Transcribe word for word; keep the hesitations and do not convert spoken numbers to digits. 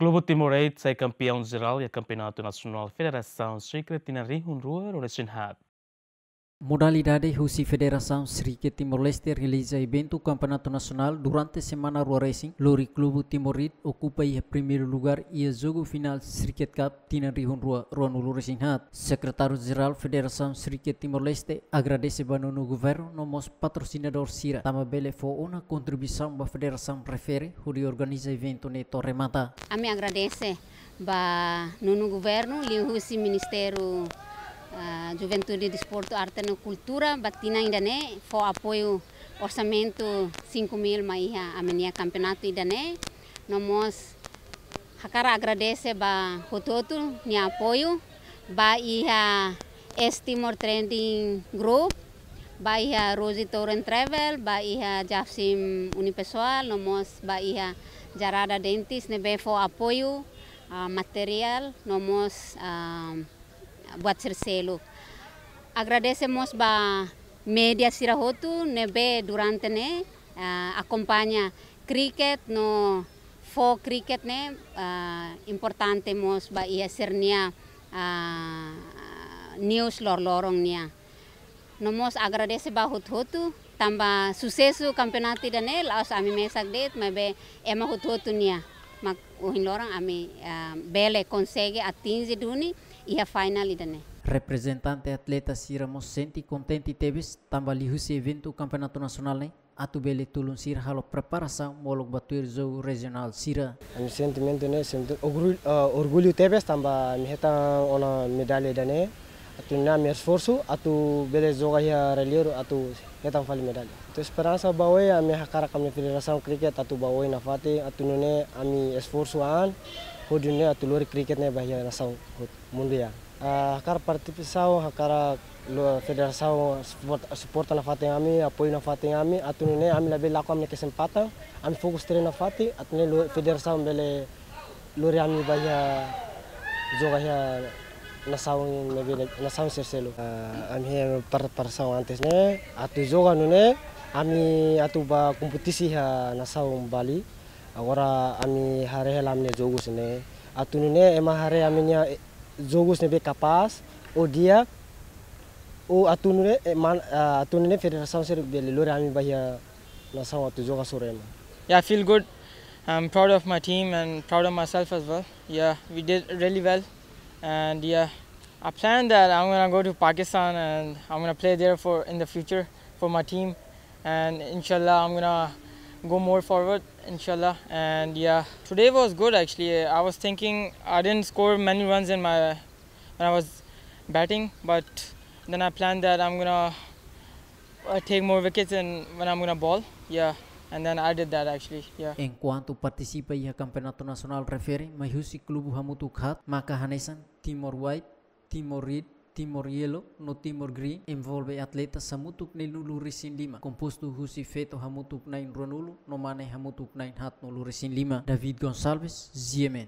Klubu Timor Aid sai kampeaun jerál iha Kampeonatu Nasionál Federasaun Xikret tinan rihun rua ruanulu-resin-haat. Modalidade husi Federasaun Xikret Timor-Leste realiza eventu Kampeonatu Nasionál durante semana rua resin, lori Klubu Timor Aid okupa iha primeiru lugár iha jogu finál Xikret Cup tinan rihun rua ruanulu-resin-haat. Sekretáriu Jerál Federasaun Xikret Timor-Leste agradese ba Nonu Governu no mós patrosinadór sira tanba bele fó ona kontribuisaun ba federasaun refere hodi organiza eventu ne'e to'o remata. Ami agradese ba Nonu Governu, liuhusi Ministériu, ah, Juventude, Desportu, Arte no Kultura, ba tinan ida-ne'e fó apoiu orsamentu cinco mil mai iha ami-nia kampeonatu ida-ne'e. No mós hakarak agradese ba hotu-hotu nia apoiu, ba iha East Timor Trading Group, ba iha Rosie Tour and Travel, ba iha Jafsim Unipessoal, no mós ba iha Jarada Dentist ne'ebé fó apoiu, ah, materiál, no mós, ah, buat sira seluk. Agradese mós ba média sira hotu ne'ebé durante ne'e, ah, akompaña kriket no fó kriket ne'e, ah, importante mós ba iha sira-nia, ah, news loroloron nian. No mós agradese ba hotu-hotu, tanba susesu kampeonatu ida-ne'e la'ós ami mesak de'it, maibé ema hotu-hotu nian. Mak ohin loron ami, ah, bele konsege atinje duni iha final ida-ne'e. Reprezentante atleta sira mós sente kontente tebes, tanba liuhusi eventu Kampeonatu Nasionál ne'e atu bele tulun sira halo preparasaun molok ba tuir jogu rejionál sira. Ami sentimentu ne'e, sentimentu orgullu, ah, orgullu tebes tanba ami hetan ona medalla ida-ne'e. Atu nune'e ami esforsu atu bele joga iha Rally Euro atu hetan fali medalla. Atu esperansa ba oin, ami hakarak ami federasaun kriket atu ba oin nafatin, atu nune'e ami esforsu an hodi nune'e atu lori kriket ne'e ba iha nasaun hotu, mundu nian. Ah, hakarak partisipasaun, hakarak lo-, federasaun suporta, suporta nafatin ami, apoiu nafatin ami, atu nune'e ami labele lakon ami-nia kesempatan, ami fokus treinu nafatin, atu nune'e lo-, federasaun bele lori ami ba iha joga iha nasaun ne'ebé, nasaun sira seluk. Ah, ami iha preparasaun antes ne'e, atu joga nune'e, ami atu ba kompetisi iha nasaun Bali. Agora ami haree hela ami-nia jogus ne'e. Atu nune'e ema haree ami-nia, eh, jogus ne'ebé kapás, ou di'ak, ou atu nune'e, eh, man-, ah, atu nune'e federasaun sira bele lori ami ba iha nasaun atu joga hasoru ema. Yeah, I feel good. I'm proud of my team and proud of myself as well. Yeah, we did really well. And yeah, I plan that I'm gonna go to Pakistan and I'm gonna play there for, in the future for my team. And inshallah, I'm gonna go more forward, inshallah. And yeah, today was good actually. I was thinking I didn't score many runs in my, when I was batting, but then I planned that I'm gonna, uh, take more wickets and when I'm gonna bowl. Yeah, and then I did that actually. Yeah. Enkuantu partisipa iha Kampeonatu Nasionál refere mai husi klubu hamutuk haat, maka hanesan Timor White, Timor Red, Timor Yellow no Timor Green, envolve atleta hamutuk neenulu-resin-lima, kompostu husi feto hamutuk na'in ruanulu no mane hamutuk na'in haatnulu-resin-lima. David Gonçalves, G M N.